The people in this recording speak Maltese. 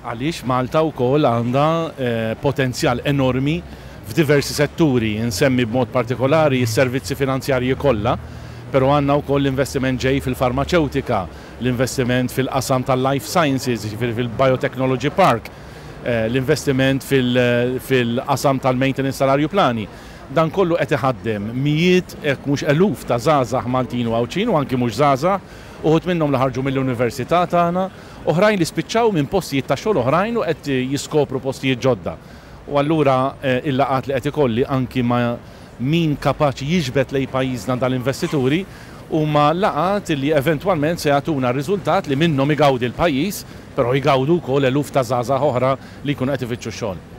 Għaliex Malta wkoll għandha potenzjal enormi f'diversi setturi, insemmi b'mod partikolari s-servizzi finanzjarji kollha, però għandna wkoll l-investiment ġej fil-farmaċewtika, l-investiment fil-qasam tal-life sciences, jiġifieri fil-biotechnology park, l-investiment fil-qasam tal-maintenance tal-arjuplani. Dan kollu qed iħaddem mijiet jekk mhux eluf ta' żgħażagħ Maltin u Għawdxin u anki mhux żgħażagħ, uħud minnhom li ħarġu mill-università tagħna, oħrajn li spiċċaw minn postijiet ta' xogħol oħrajn u qed jiskopru postijiet ġodda. U allura il-laqgħat li qed ikolli anki ma' min kapaċi jiġbed lejn pajjiżna dal-investituri huma laqgħat li eventwalment se jagħtuna riżultat li minnhom igawdi l-pajjiż, però jgawdu wkoll eluf ta' żgħażagħ oħra li jkunu qed ifittxu x-xogħol.